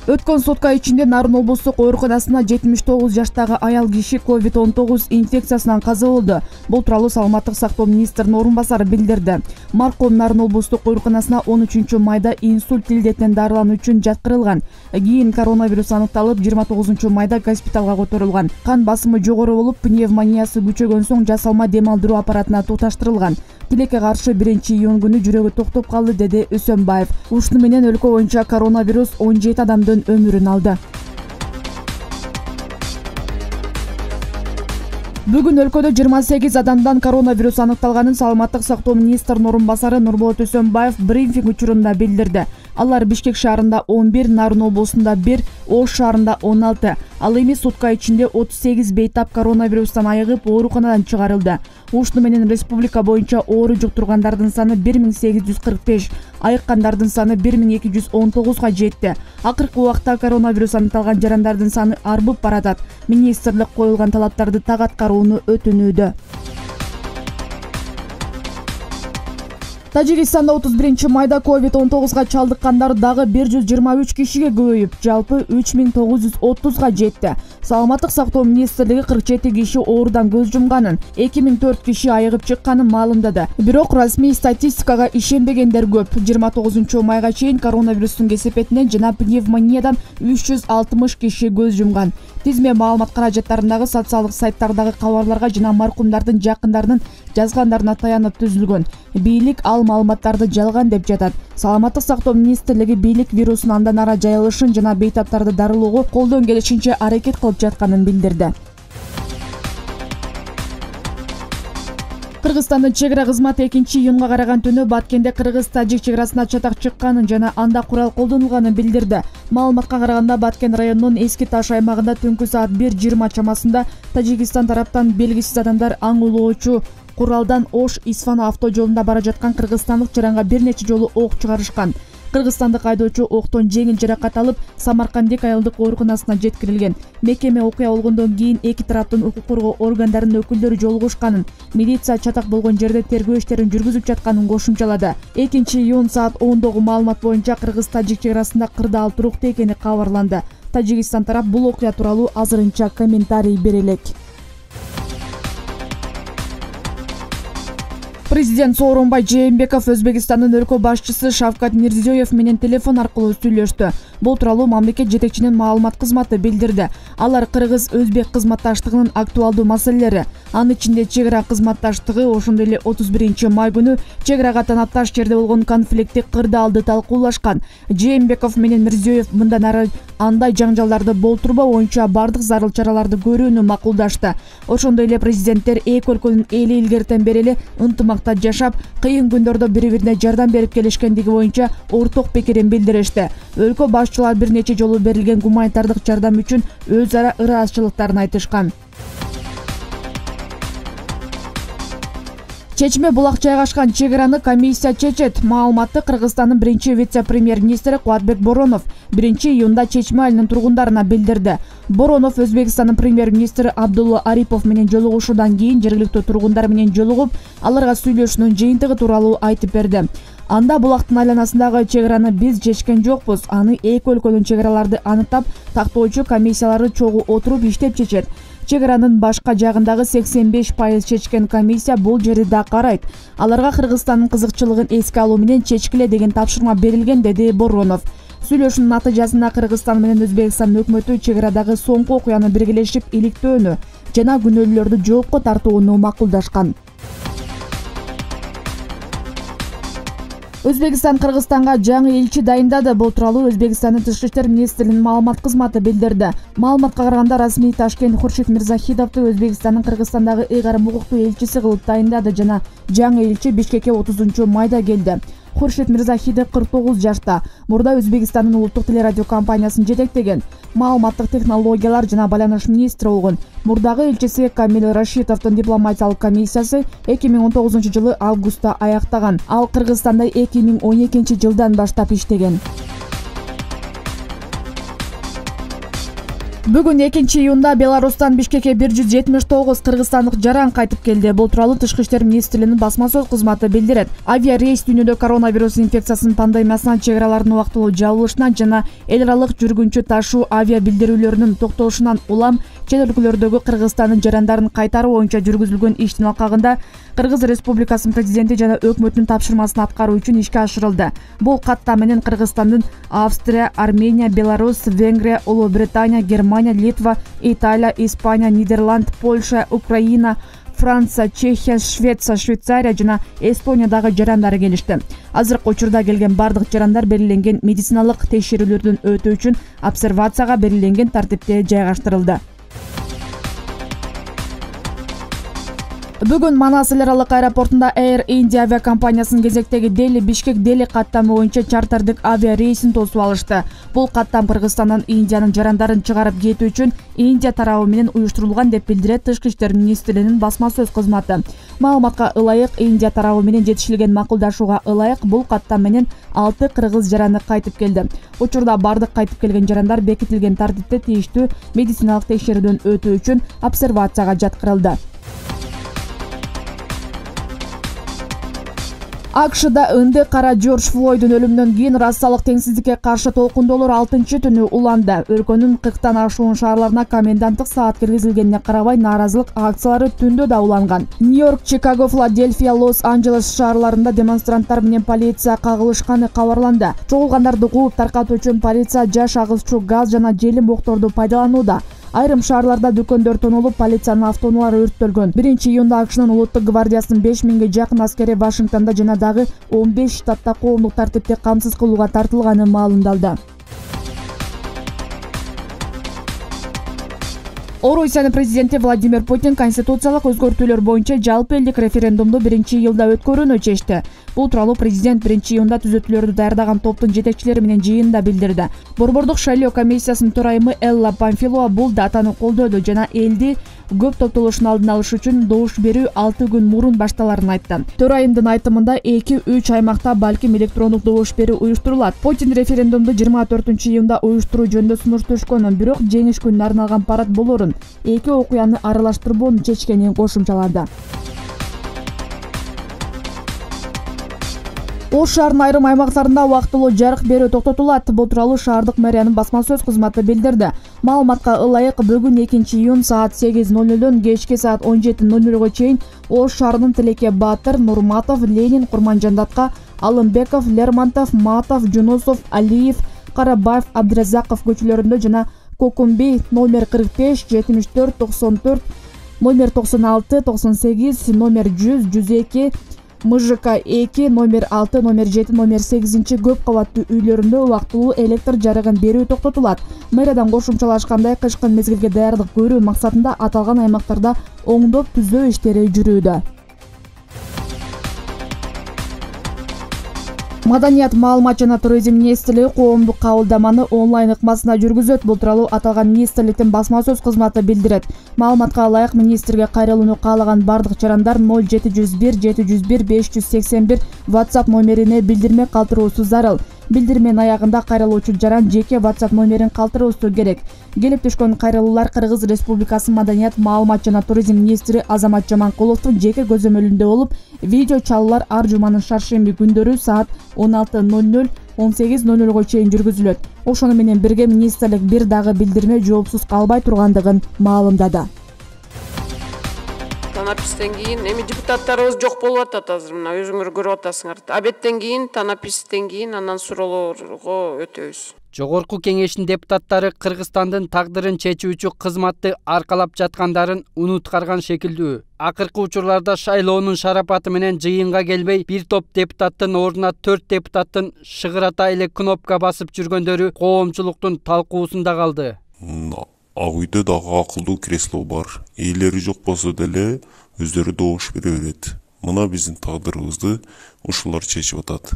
Өткөн сутка ичинде Нарын облустук ооруканасына 79 жаштагы аял киши COVID-19 инфекциясынан каза болду. Бул тууралуу Саламаттык сактоо министринин орун басары билдирди. Маркум Нарын облустук ооруканасына 13-майда инсульт илдетинен дарылануу үчүн жаткырылган. Кийин коронавирус аныкталып, 29 майда госпиталга которулган. Кан басымы жогору болуп, пневмониясы күчөгөн соң жасалма дем алдыруу аппаратына туташтырылган. Тилекке каршы 1-июнь күнү жүрөгү токтоп калды, деди Өсөнбаев. Ушуну менен өлкө боюнча коронавирус 17 адамдын өмүрүн алды. Бүгүн өлкөдө 28 адамдан коронавирус аныкталганын Саламаттык сактоо министринин орун басары Нурболот Өсөнбаев брифинг учурунда билдирди. Алар Бишкек шаарында 11, Нарын облусунда 1, Ош шаарында 16. Ал эми сутка ичинде 38 бейтап коронавирустан айыгып, ооруканадан чыгарылды. Ушуну менен республика боюнча оору жуктургандардын саны 1845, айыккандардын саны 1219га жетти. Акыркы убакта коронавирус аныкталган жарандардын саны арбып баратат. Министрлик коюлган талаптарды так аткарууну өтүнүүдө. Тажикстанда 31-майда COVID-19га чалдыккандар дагы 123 кишиге көбөйүп, жалпы 3930га жетти. Саламаттык сактоо министрлиги 47 киши оорудан көз жумганын, 2004 киши айыгып чыкканын маалымдады. Бирок расмий статистикага ишенбегендер көп. 29-майга чейин коронавирустун кесепетинен жана пневмониядан 360 киши көз жумган. Тизме маалымат каражаттарындагы социалдык сайттардагы кабарларга жана маркумдардын жакындарынын жазгандарына таянып түзүлгөн. Бийлик ал маалыматтарды жалган деп жатат. Саламаттык сактоо министрлиги бийлик вирустун андан ара жайылышын жана бейтаптарды дарылоого колдон келишинче аракет кылып жатканын билдирди. Кыргызстандын чек ара кызматы 2-июнга караган түнү Баткенде кыргыз-тажик чек арасына чатак чыкканын жана анда курал колдонулганын билдирди. Маалыматка караганда Баткен районунун Эски Таш аймагында түнкү саат 1:20 чамасында Тажикстан тараптан белгисиз адамдар аң улоочу куралдан Ош-Исфана автожолунда бара жаткан кыргызстандык жаранга бир нече жолу ок чыгарышкан. Кыргызстандык айдоочу октон жеңил жаракат алып, Самаркандик айылдык ооруканасына жеткирилген. Мекеме окуя болгондон кийин эки тараптын укук коргоо органдарынын өкүлдөрү жолугушканын, милиция чатак болгон жерде тергөө иштерин жүргүзүп жатканын кошумчалады. 2-июнь саат 10-догу маалымат боюнча кыргыз-тажик чек арасында кырдаал туруктуу экени кабарланды. Тажикстан тарап бул окуя тууралуу азырынча комментарий бере элек. Президент Сооронбай Жээнбеков Өзбекстандын өлкө башчысы Шавкат Мирзиёев менен телефон аркылуу сүйлөштү. Бул тууралуу мамлекет жетекчинин маалымат кызматы билдирди. Алар кыргыз-өзбек кызматташтыгынын актуалдуу маселелери, анын ичинде чек ара кызматташтыгы, ошондой эле 31-май күнү чек арага танапташ жерде болгон конфликти кырдаалды талкуулашкан. Жээнбеков менен Мирзиёев мындан ары андай жаңжалдарды болтурбоо боюнча бардык зарыл чараларды көрүүнү макулдашты. Ошондой эле президенттер эки өлкөнүн эли илгертен бери эле ынтымакта жашап, кыйын күндөрдө бири-бирине жардам берип келишкендиги боюнча орток пикирин билдиришти. Өлкө башчылар бир нече жолу берилген гуманитардык жардам үчүн өз ара ыраазычылыктарын айтышкан. Чечме булак жайгашкан чек араны комиссия чечет. Маалыматты Кыргызстандын биринчи вице-премьер-министри Кубатбек Боронов 1-июнда чечме айылынын тургундарына билдирди. Боронов Өзбекстандын премьер-министри Абдулла Арипов менен жолугушуудан кийин жергиликтүү тургундар менен жолугуп, аларга сүйлөшүүнүн жыйынтыгы тууралуу айтып берди. Анда булактын айланасындагы чек араны биз чечкен жокпуз. Аны эки өлкөнүн чек араларды аныктап, тактоочу комиссиялары чогуу отуруп иштеп чечет. Чек аранын башка жагындагы 85% чечкен комиссия бул жерди да карайт. Аларга Кыргызстандын кызыкчылыгын эске алуу менен чечкиле деген тапшырма берилген, деди Боронов. Сүйлөшүүнүн натыйжасында Кыргызстан менен Өзбекстан өкмөтү чек арадагы соңку окуяны биргелешип иликтөөнү жана күнөөлүүлөрдү жоопко тартууну макулдашкан. Өзбекстан Кыргызстанга жаңы элчи дайындады. Бул тууралуу Өзбекстандын Тышкы иштер министрлигинин маалымат кызматы билдирди. Маалыматка караганда расмий Ташкент Хуршид Мирзахидовду Өзбекстандын Кыргызстандагы ыйгарым укуктуу элчиси кылып дайындады жана жаңы элчи Бишкекке 30-майда келди. Хуршид Мирзахидов 49 жашта. Мурда Өзбекстандын улуттук телерадиокомпаниясын жетектеген. Маалыматтык технологиялар жана байланыш министри болгон. Мурдагы элчиси Камил Рашидовдун дипломатиялык комиссиясы 2019 жылы августта аяктаган. Ал Кыргызстанда 2012 жылдан баштап иштеген. Бүгүн 2-июнда Беларустан Бишкекке 179 кыргызстандык жаран кайтып келди. Бул тууралуу Тышкы иштер министрлигинин басма сөз кызматы билдирет. Авиа рейс дүйнөдө коронавирус инфекциясынын пандемиясынан, чек аралардын убактылуу жабылышынан жана эл аралык жүргүнчү ташуу авиа билдирүүлөрүнүн токтолушунан улам чет өлкөлөрдөгү Кыргызстандын жарандарын кайтаруу боюнча жүргүзүлгөн иштин алкагында Кыргыз Республикасынын президенти жана өкмөтүнүн тапшырмасын аткаруу үчүн ишке ашырылды. Бул катта менен Кыргызстандын Австрия, Армения, Беларусь, Венгрия, Улуу Британия, Германия, Литва, Италия, Испания, Нидерланд, Польша, Украина, Франция, Чехия, Швеция, Швейцария жана Эстониядагы жарандары келишти. Азыркы учурда келген бардык жарандар белгиленген медициналык текшерүүлөрдөн өтүү үчүн обсервацияга белгиленген тартипте жайгаштырылды. Бүгүн Манас эл аралык аэропортунда Air India авиакомпаниясынын кезектеги Дели-Бишкек-Дели каттамы боюнча чартердик авиа рейсин тосуп алышты. Бул каттам Кыргызстандан Индиянын жарандарын чыгарып кетүү үчүн Индия тарабы менен уюштурулган деп билдирет Тышкы иштер министрлигинин басма сөз кызматы. Маалыматка ылайык, Индия тарабы менен жетишилген макулдашууга ылайык бул каттам менен 6 кыргыз жараны кайтып келди. Учурда бардык кайтып келген жарандар бекитилген тартипте тийиштүү медициналык текшерүүдөн өтүү үчүн обсервацияга жаткырылды. АКШда ынды кара Джордж Флойдун өлүмүнөн кийин расалык теңсиздикке каршы толкундоолор 6-түнү уланды. Өлкөнүн 40тан ашуун шаарларына коменданттык саат киргизилгенине карабай нааразылык акциялары түндө да уланган. Нью-Йорк, Чикаго, Филадельфия, Лос-Анджелес шаарларында демонстранттар менен полиция кагылышканы кабарланды. Чогулгандарды кууп таркатуу үчүн полиция жаш агызчу газ жана желим оокторду пайдаланууда. Айрым шаарларда дүкөндөр тонолуп, полициянын автоунаалары өрттөлгөн. 1-июнда АКШнын улуттук гвардиясынын 5000ге жакын аскери Вашингтондо жана дагы 15 штатта коомдук тартипти камсыз кылууга тартылганы маалымдалды. Орусиянын президенти Владимир Путин конституциялык өзгөртүүлөр боюнча жалпы элдик референдумду 1-июлда өткөрүүнү чечти. Бул тууралуу президент 1-июнда түзөтүүлөрдү даярдаган топтун жетекчилери менен жыйынында билдирди. Борбордук шайлоо комиссиясынын төрайымы Элла Памфилова бул датаны колдоду жана элди көп топтолушун алдын алыш үчүн добуш берүү 6 күн мурун башталарын айтты. Төрайымдын айтымында 2-3 аймакта балким электрондук добуш берүү уюштурулат. Путин референдумду 24-июнда уюштуруу жөнүндө сунуш түшкөнүн, бирок жеңиш күнүнө арналган парад болорун, эки окуяны аралаштырбоону чечкенин кошумчалады. Ош шаарынын айрым аймактарында убактылуу жарык берүү токтотулат. Бул тууралуу шаардык мэриянын басма сөз кызматы билдирди. Маалыматка ылайык бүгүн 2-июн саат 8:00дөн кечки саат 17:00 чейин Ош шаарынын Тилеке Баатыр, Нурматов, Ленин, Курманжандатка, Алымбеков, Лермонтов, Матов, Жунусов, Алиев, Карабаев, Абдыразаков көчөлөрүндө жана Кокумбей номер 45, 74, 94, номер 96, 98, номер 100, 102, МЖК 2, номер 6, номер 7, номер 8 көп кабаттуу үйлөрүндө убактылуу электр жарыгын берүү токтотулат. Мэриядан кошумчалашкандай, кышкы мезгилге даярдык көрүү максатында аталган аймактарда оңдоп түзөө иштери жүрүүдө. Маданият, маалымат жана туризм министрлиги коомдук кабылдаманы онлайн ыкмасында жүргүзөт. Бул тууралуу аталган министрликтин басма сөз кызматы билдирет. Маалыматка ылайык, министрге кайрылууну каалаган бардык жарандар 0701 701 581 WhatsApp номерине билдирме калтыруусу зарыл. Билдирменин аягында кайрылуучу жаран жеке WhatsApp номерин калтыруусу керек. Келип түшкөн кайрылуулар Кыргыз Республикасынын Маданият, маалымат жана туризм министри Азамат Жаманкуловдун жеке көзөмөлүндө болуп, видео чалуулар ар жуманын шаршемби күндөрү саат 16:00 18:00 чейин жүргүзүлөт. Ошону менен бирге министрлик бир дагы билдирме жоопсуз калбай тургандыгын маалымдады. Танапистен кийин эми депутаттарыбыз жок болуп атат азыр, мына өзүңөр көрүп атасыңар. Абеттен кийин, танаписттен кийин анан суроолорго өтөбүз. Жогорку кеңештин депутаттары Кыргызстандын тагдырын чечүүчү кызматты аркалап жаткандарын унуткарган шекилдүү. Акыркы учурларда шайлоонун шарапаты менен жыйынга келбей, бир топ депутаттын ордуна 4 депутаттын шыгырата эле кнопка басып жүргөндөрү коомчулуктун талкуусунда калды. Ак үйдө дагы акылдуу кресло бар. Ээлери жок болсо деле өздөрү добуш бере берет. Мына биздин тагдырыбызды ушулар чечип атат.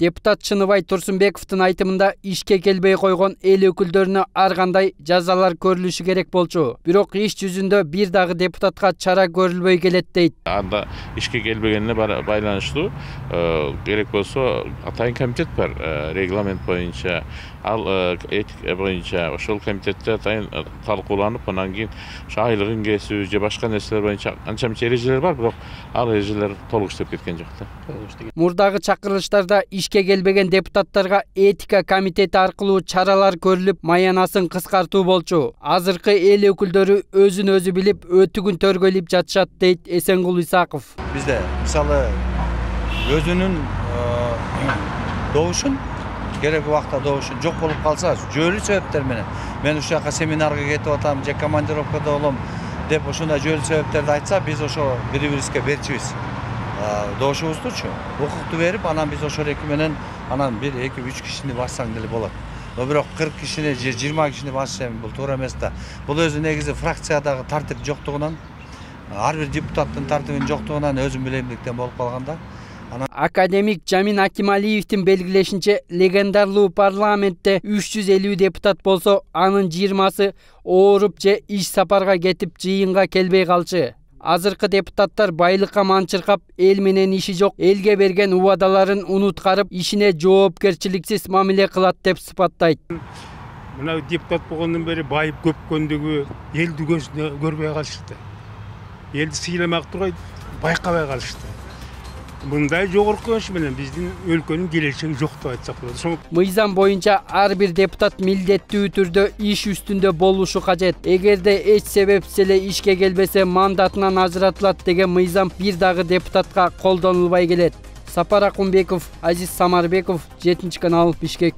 Депутат Чыныбай Турсунбековдун айтымында ишке келбей койгон эл өкүлдөрүнө ар кандай жазалар көрүлүшү керек болчу. Бирок иш жүзүндө бир дагы депутатка чара көрүлбөй келет дейт. Анда ишке келбегенине байланыштуу керек болсо атайын комитет бар, регламент боюнча ал этика боюнча ошол комитетте атайын талкууланып, анан кийин айлыгын кесүү же башка нерселер боюнча анча мынча эрежелер бар, бирок ал эрежелер толук иштеп кеткен жок да. Мурдагы чакырылыштарда ишке келбеген депутаттарга этика комитети аркылуу чаралар көрүлүп, маянасын кыскартуу болчу. Азыркы эл өкүлдөрү өзүн өзү билип, өтүгүн төргөлүп жатышат, дейт Эсенгул Исаков. Бизде мисалы өзүнүн добушун керек убакта добушун жок болуп калса, жөлүү себептер менен мен ушул жака семинарга кетип атам же командировкада болом деп ошондой жөлүү себептерди айтса, биз ошо бири-бирибизге берчибиз. Добушубуздучу укукту берип, анан биз ошол эки менен анан 1-2-3 кишини бассаң деле болот. Бирок 40 кишини же 20 кишини басыш бул туура эмес да. Бул өзү негизи фракциядагы тартип жоктугунан, ар бир депутаттын тартибинин жоктугунан өзүм билемдиктен болуп калганда. Академик Жамин Акималиевдин белгилешинче, легендарлуу парламентте 350 депутат болсо, анын 20сы ооруп же иш сапарга кетип жыйынга келбей калчу. Азыркы депутаттар байлыкка манчыркап, эл менен иши жок, элге берген убадаларын унуткарып, ишине жоопкерчиликсиз мамиле кылат деп сыпаттайт. Мына депутат болгондон бери байып көпкөндүгү элди көзүнө көрбөй калышты. Элди сыйламак тургай байкабай калышты. Мындай жогорку өш менен биздин өлкөнүн келечеги жок деп айтсак болот. Мыйзам боюнча ар бир депутат милдеттүү түрдө иш үстүндө болушу кажет. Эгерде эч себепсиз эле ишке келбесе, мандатынан ажыратылат деген мыйзам бир дагы депутатка колдонулбай келет. Сапар Акунбеков, Азиз Самарбеков, 7 канал, Бишкек.